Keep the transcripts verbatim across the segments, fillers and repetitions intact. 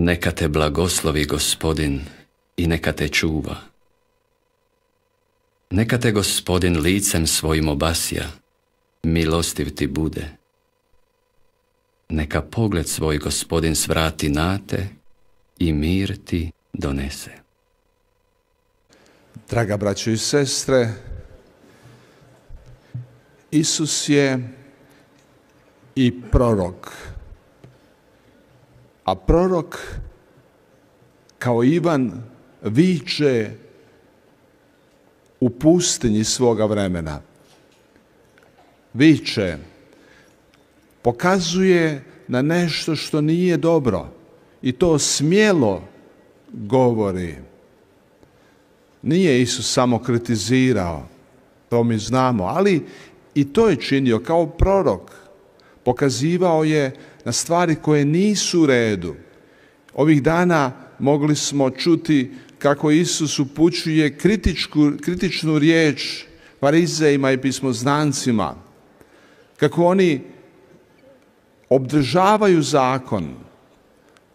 Neka te blagoslovi Gospodin i neka te čuva. Neka te Gospodin licem svojim obasja, milostiv ti bude. Neka pogled svoj Gospodin svrati na te i mir ti donese. Draga braćo i sestre, Isus je i prorok. A prorok, kao Ivan, viče u pustinji svoga vremena. Viče, pokazuje na nešto što nije dobro i to smjelo govori. Nije Isus samo kritizirao, to mi znamo, ali i to je činio kao prorok. Pokazivao je na stvari koje nisu u redu. Ovih dana mogli smo čuti kako Isus upućuje kritičku, kritičnu riječ farizejima i pismoznancima, kako oni obdržavaju zakon,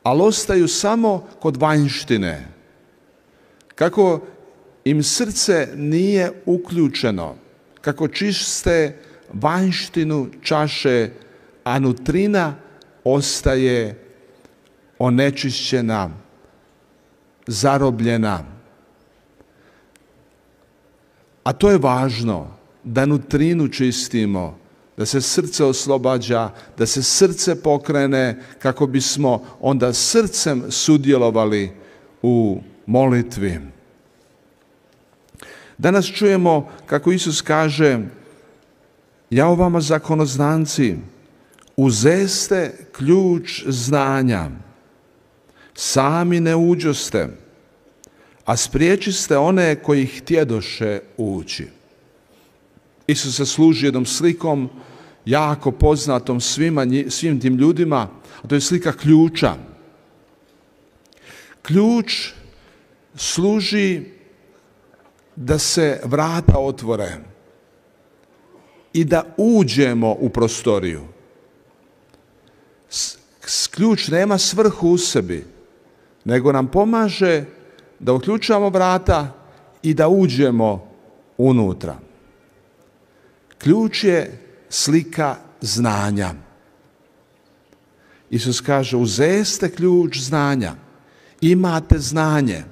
ali ostaju samo kod vanjštine, kako im srce nije uključeno, kako čiste vanjštinu čaše, a nutrina ostaje onečišćena, zarobljena. A to je važno, da nutrinu čistimo, da se srce oslobađa, da se srce pokrene, kako bismo onda srcem sudjelovali u molitvi. Danas čujemo kako Isus kaže: jao vama zakonoznanci, uzeste ključ znanja, sami ne uđoste, a spriječiste one koji htjedoše ući. Isus se služi jednom slikom, jako poznatom svima, svim tim ljudima, a to je slika ključa. Ključ služi da se vrata otvore i da uđemo u prostoriju. Ključ nema svrhu u sebi, nego nam pomaže da uključamo vrata i da uđemo unutra. Ključ je slika znanja. Isus kaže: uzeste ključ znanja. Imate znanje.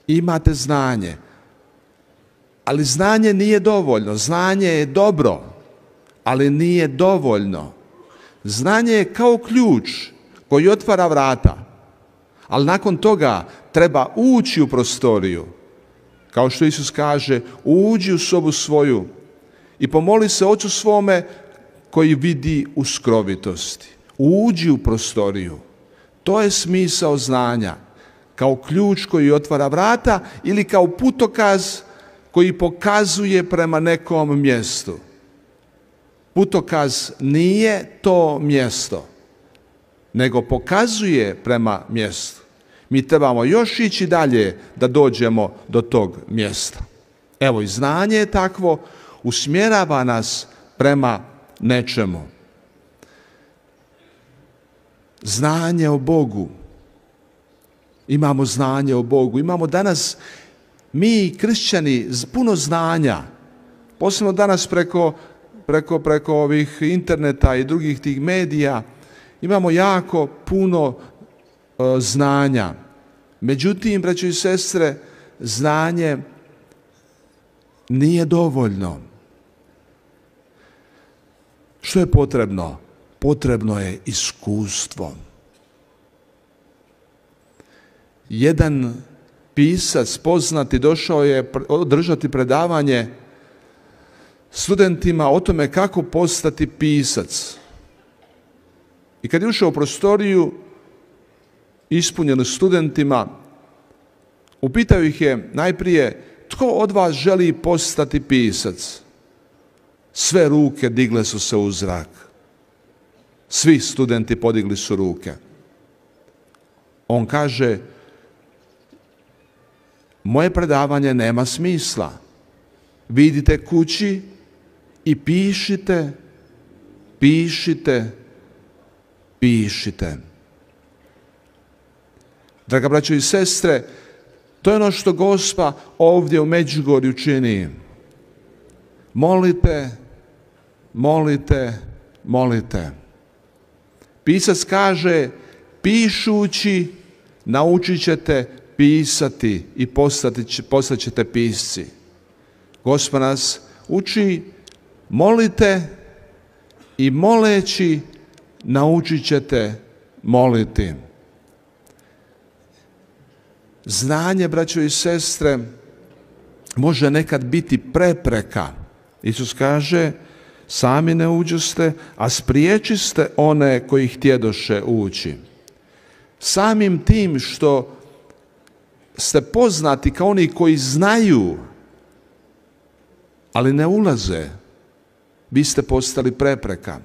Imate znanje. Ali znanje nije dovoljno. Znanje je dobro, ali nije dovoljno. Znanje je kao ključ koji otvara vrata, ali nakon toga treba ući u prostoriju. Kao što Isus kaže: uđi u sobu svoju i pomoli se Ocu svome koji vidi u skrovitosti. Uđi u prostoriju. To je smisao znanja. Kao ključ koji otvara vrata ili kao putokaz koji pokazuje prema nekom mjestu. Putokaz nije to mjesto, nego pokazuje prema mjestu. Mi trebamo još ići dalje da dođemo do tog mjesta. Evo, i znanje je takvo, usmjerava nas prema nečemu. Znanje o Bogu. Imamo znanje o Bogu. Imamo danas, mi kršćani, puno znanja. Posebno danas preko, preko, preko ovih interneta i drugih tih medija imamo jako puno uh, znanja. Međutim, braćo i sestre, znanje nije dovoljno. Što je potrebno? Potrebno je iskustvo. Jedan pisac poznati došao je održati predavanje studentima o tome kako postati pisac. I kad je ušao u prostoriju ispunjenu studentima, upitao ih je najprije: tko od vas želi postati pisac? Sve ruke digle su se u zrak. Svi studenti podigli su ruke. On kaže: moje predavanje nema smisla. Vi idite kući i pišite, pišite, pišite. Draga braćo i sestre, to je ono što Gospa ovdje u Međugorju čini. Molite, molite, molite. Pisac kaže, pišući naučit ćete pisati i postat ćete pisci. Gospa nas uči, molite i moleći naučit ćete moliti. Znanje, braćo i sestre, može nekad biti prepreka. Isus kaže, sami ne uđoste, a spriječiste one koji htjedoše ući. Samim tim što ste poznati kao oni koji znaju, ali ne ulaze, vi ste postali prepreka.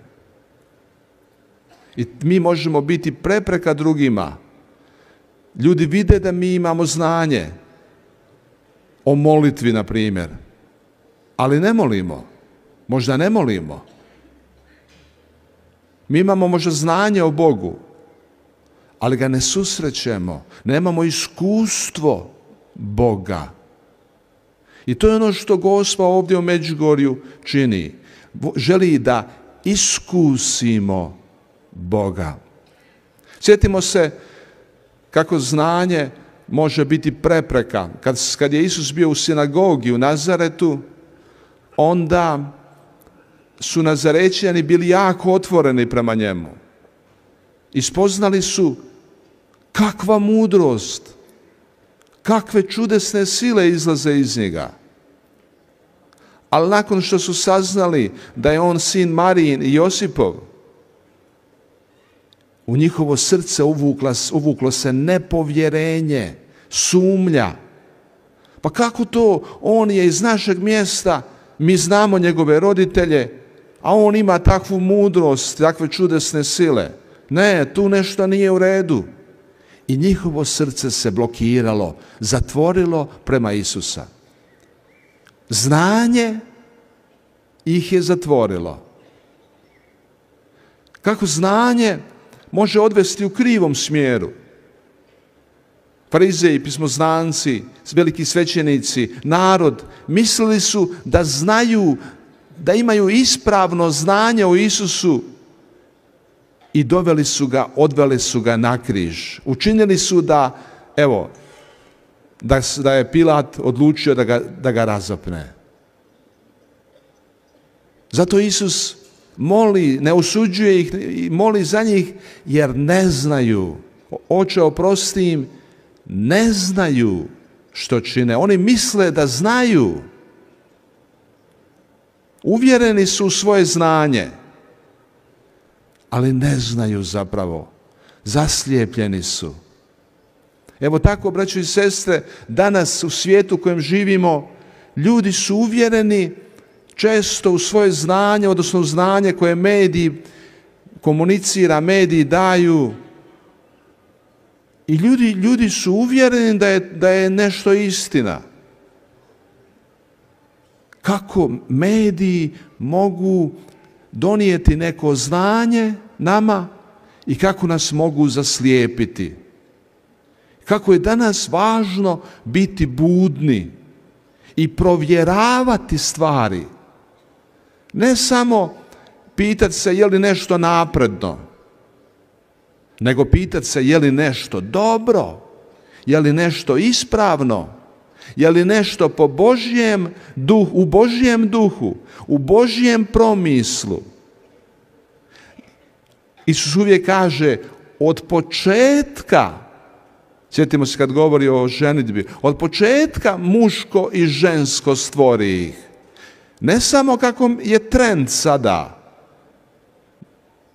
I mi možemo biti prepreka drugima. Ljudi vide da mi imamo znanje o molitvi, na primjer, ali ne molimo. Možda ne molimo. Mi imamo možda znanje o Bogu, ali ga ne susrećemo. Nemamo iskustvo Boga. I to je ono što Gospa ovdje u Međugorju čini. Želi da iskusimo Boga. Sjetimo se kako znanje može biti prepreka. Kad, kad je Isus bio u sinagogi u Nazaretu, onda su Nazarećani bili jako otvoreni prema njemu. I spoznali su kakva mudrost, kakve čudesne sile izlaze iz njega. Ali nakon što su saznali da je on sin Marijin i Josipov, u njihovo srce uvuklo, uvuklo se nepovjerenje, sumnja. Pa kako to? On je iz našeg mjesta, mi znamo njegove roditelje, a on ima takvu mudrost, takve čudesne sile. Ne, tu nešto nije u redu. I njihovo srce se blokiralo, zatvorilo prema Isusa. Znanje ih je zatvorilo. Kako znanje može odvesti u krivom smjeru? Farizeji, pismoznanci, veliki svećenici, narod mislili su da znaju, da imaju ispravno znanje o Isusu i doveli su ga, odveli su ga na križ. Učinili su da, evo, da, da je Pilat odlučio da ga, da ga razapne. Zato Isus moli, ne osuđuje ih, moli za njih jer ne znaju. Oče, oprosti im, ne znaju što čine. Oni misle da znaju. Uvjereni su u svoje znanje, ali ne znaju zapravo. Zaslijepljeni su. Evo tako, braćo i sestre, danas u svijetu u kojem živimo, ljudi su uvjereni često u svoje znanje, odnosno u znanje koje mediji komunicira, mediji daju. I ljudi, ljudi su uvjereni da je, da je nešto istina. Kako mediji mogu donijeti neko znanje nama i kako nas mogu zaslijepiti. Kako je danas važno biti budni i provjeravati stvari. Ne samo pitati se je li nešto napredno, nego pitati se je li nešto dobro, je li nešto ispravno, je li nešto po Božjem duhu, u Božjem duhu, u Božjem promislu. Isus uvijek kaže od početka, sjetimo se kad govori o ženidbi, od početka muško i žensko stvori ih. Ne samo kako je trend sada.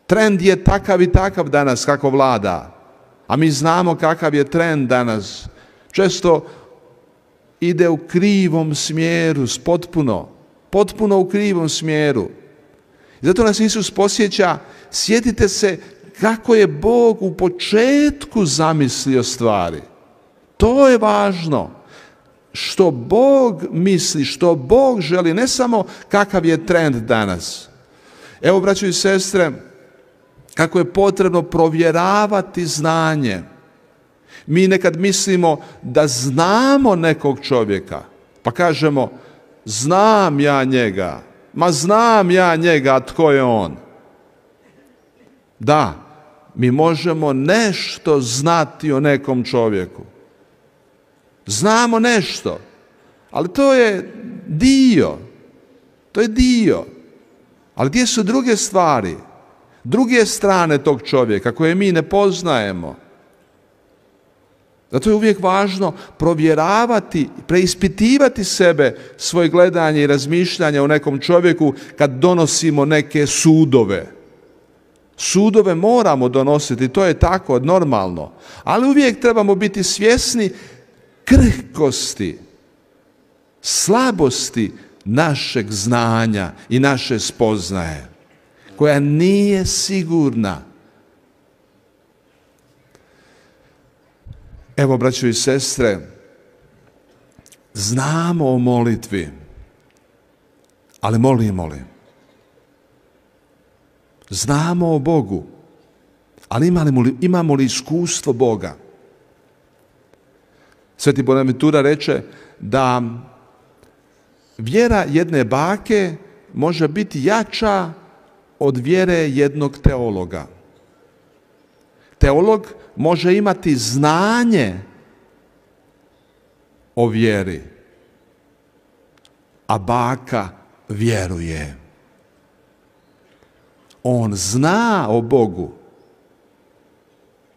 Trend je takav i takav danas kako vlada. A mi znamo kakav je trend danas. Često ide u krivom smjeru, potpuno, potpuno u krivom smjeru. Zato nas Isus posjeća, sjetite se kako je Bog u početku zamislio stvari. To je važno. Što Bog misli, što Bog želi, ne samo kakav je trend danas. Evo, braćo i sestre, kako je potrebno provjeravati znanje. Mi nekad mislimo da znamo nekog čovjeka, pa kažemo znam ja njega, ma znam ja njega, tko je on? Da, mi možemo nešto znati o nekom čovjeku. Znamo nešto, ali to je dio, to je dio. Ali gdje su druge stvari, druge strane tog čovjeka koje mi ne poznajemo? Zato je uvijek važno provjeravati, preispitivati sebe, svoje gledanje i razmišljanje o nekom čovjeku kad donosimo neke sudove. Sudove moramo donositi, to je tako normalno, ali uvijek trebamo biti svjesni krhkosti, slabosti našeg znanja i naše spoznaje, koja nije sigurna. Evo, braćo i sestre, znamo o molitvi, ali molimo li? Znamo o Bogu, ali imamo li, imamo li iskustvo Boga? Sveti Bonaventura reče da vjera jedne bake može biti jača od vjere jednog teologa. Teolog može imati znanje o vjeri, a baka vjeruje. On zna o Bogu,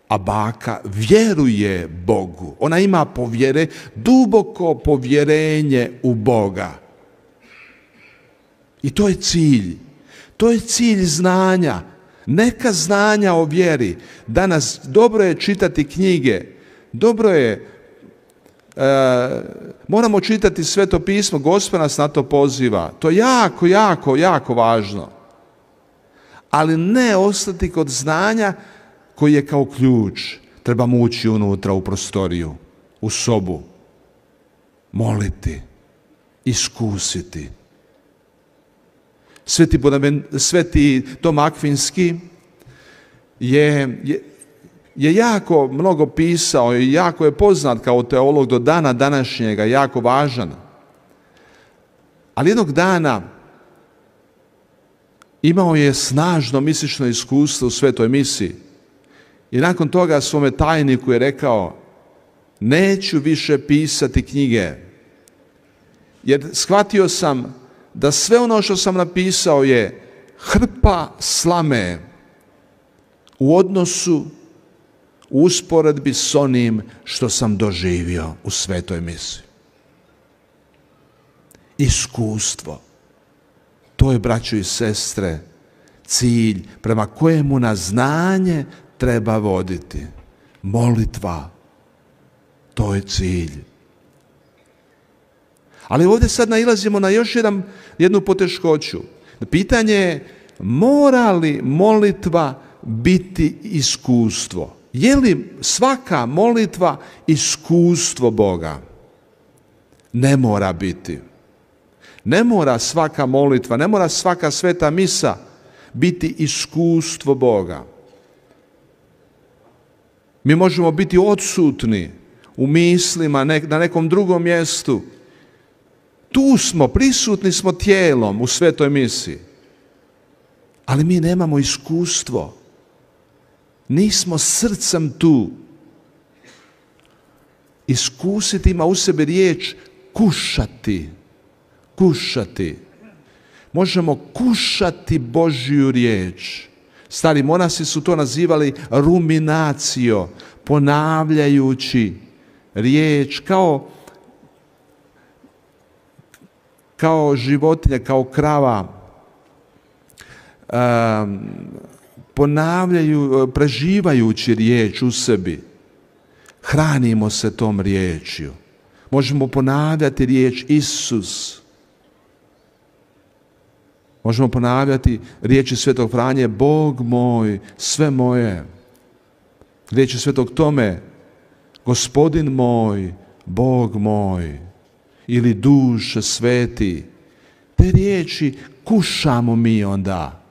a baka vjeruje Bogu. Ona ima povjere, duboko povjerenje u Boga. I to je cilj. To je cilj znanja. Neka znanja o vjeri. Danas dobro je čitati knjige. Dobro je, e, moramo čitati Sveto pismo. Gospod nas na to poziva. To je jako, jako, jako važno. Ali ne ostati kod znanja koji je kao ključ. Trebamo ući unutra u prostoriju, u sobu, moliti, iskusiti. Sveti, Sveti Tom Akvinski je, je, je jako mnogo pisao i jako je poznat kao teolog do dana današnjega, jako važan. Ali jednog dana imao je snažno mistično iskustvo u svetoj misiji. I nakon toga svome tajniku je rekao, neću više pisati knjige, jer shvatio sam da sve ono što sam napisao je hrpa slame u odnosu, u usporedbi s onim što sam doživio u svetoj misiji. Iskustvo. To je, braćo i sestre, cilj prema kojemu nas znanje treba voditi. Molitva. To je cilj. Ali ovdje sad nailazimo na još jedan, jednu poteškoću. Pitanje je, mora li molitva biti iskustvo? Je li svaka molitva iskustvo Boga? Ne mora biti. Ne mora svaka molitva, ne mora svaka sveta misa biti iskustvo Boga. Mi možemo biti odsutni u mislima na nekom drugom mjestu. Tu smo, prisutni smo tijelom u svetoj misi. Ali mi nemamo iskustvo. Nismo srcem tu. Iskusiti ima u sebi riječ kušati. Kušati. Možemo kušati Božju riječ. Stari monasi su to nazivali ruminacio, ponavljajući riječ kao, kao životinja, kao krava. Um, ponavljaju, preživajući riječ u sebi. Hranimo se tom riječju. Možemo ponavljati riječ Isus. Možemo ponavljati riječi Svetog Franje, Bog moj, sve moje. Riječi Svetog Tome, Gospodin moj, Bog moj. Ili duše sveti. Te riječi kušamo mi onda.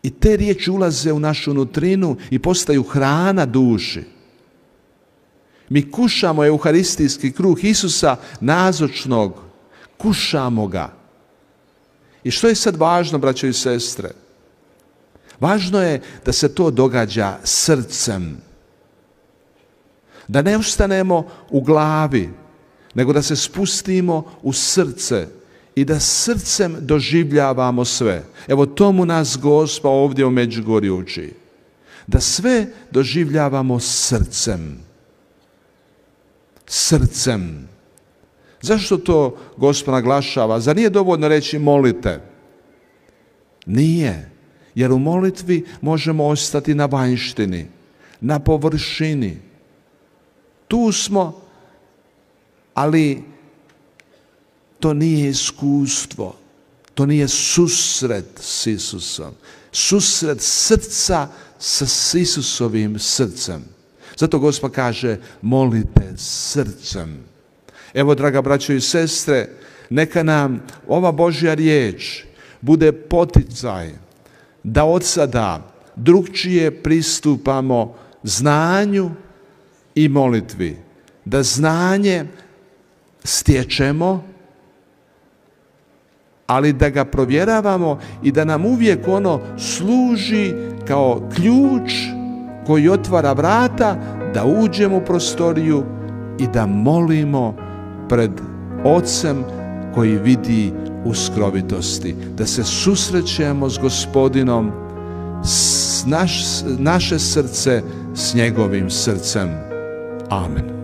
I te riječi ulaze u našu nutrinu i postaju hrana duši. Mi kušamo euharistijski kruh Isusa nazočnog, kušamo ga. I što je sad važno, braćo i sestre? Važno je da se to događa srcem. Da ne ostanemo u glavi, nego da se spustimo u srce i da srcem doživljavamo sve. Evo tomu nas Gospa ovdje u Međugorju uči. Da sve doživljavamo srcem. Srcem. Zašto to Gospa naglašava? Zar nije dovoljno reći molite? Nije. Jer u molitvi možemo ostati na vanjštini, na površini. Tu smo, ali to nije iskustvo, to nije susret s Isusom. Susret srca sa Isusovim srcem. Zato Gospa kaže, molite srcem. Evo, draga braćo i sestre, neka nam ova Božja riječ bude poticaj da od sada drukčije pristupamo znanju i molitvi. Da znanje stječemo, ali da ga provjeravamo i da nam uvijek ono služi kao ključ koji otvara vrata da uđemo u prostoriju i da molimo pred Ocem koji vidi u skrovitosti. Da se susrećemo s Gospodinom, s naš, naše srce s njegovim srcem. Amen.